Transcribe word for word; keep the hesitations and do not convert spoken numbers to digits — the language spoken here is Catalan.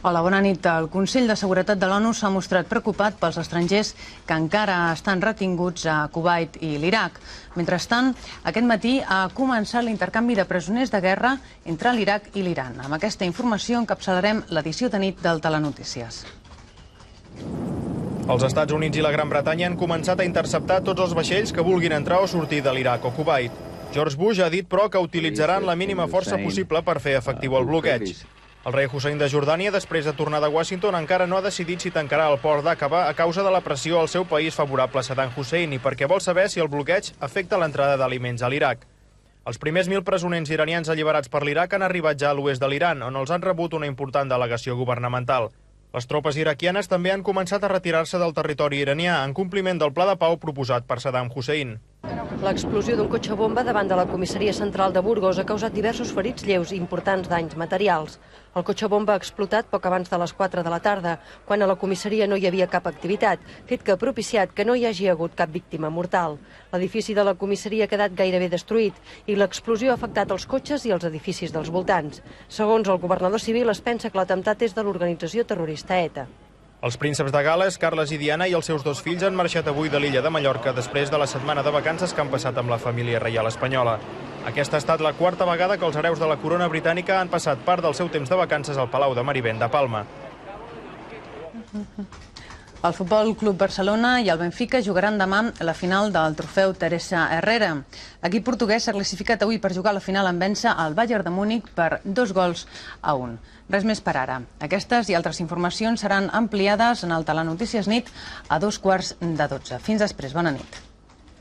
Hola, bona nit. El Consell de Seguretat de l'ONU s'ha mostrat preocupat pels estrangers que encara estan retinguts a Kuwait i l'Iraq. Mentrestant, aquest matí ha començat l'intercanvi de presoners de guerra entre l'Iraq i l'Iran. Amb aquesta informació encapçalarem l'edició de nit del Telenotícies. Els Estats Units i la Gran Bretanya han començat a interceptar tots els vaixells que vulguin entrar o sortir de l'Iraq o Kuwait. George Bush ha dit, però, que utilitzaran la mínima força possible per fer efectiu el bloqueig. El rei Hussein de Jordània, després de tornar de Washington, encara no ha decidit si tancarà el port d'Aqaba a causa de la pressió al seu país favorable a Saddam Hussein i perquè vol saber si el bloqueig afecta l'entrada d'aliments a l'Iraq. Els primers mil presoners iranians alliberats per l'Iraq han arribat ja a l'oest de l'Iran, on els han rebut una important delegació governamental. Les tropes iraquianes també han començat a retirar-se del territori iranià en compliment del pla de pau proposat per Saddam Hussein. L'explosió d'un cotxe bomba davant de la comissaria central de Burgos ha causat diversos ferits lleus i importants danys materials. El cotxe bomba ha explotat poc abans de les quatre de la tarda, quan a la comissaria no hi havia cap activitat, fet que ha propiciat que no hi hagi hagut cap víctima mortal. L'edifici de la comissaria ha quedat gairebé destruït i l'explosió ha afectat els cotxes i els edificis dels voltants. Segons el governador civil, es pensa que l'atemptat és de l'organització terrorista ETA. Els prínceps de Gal·les, Carles i Diana, i els seus dos fills han marxat avui de l'illa de Mallorca després de la setmana de vacances que han passat amb la família reial espanyola. Aquesta ha estat la quarta vegada que els hereus de la corona britànica han passat part del seu temps de vacances al Palau de Marivent de Palma. El Futbol Club Barcelona i el Benfica jugaran demà la final del trofeu Teresa Herrera. L'equip portuguès s'ha classificat avui per jugar la final en vèncer al Bayern de Múnich per dos gols a un. Res més per ara. Aquestes i altres informacions seran ampliades en el Telenotícies Nit a dos quarts de dotze. Fins després. Bona nit.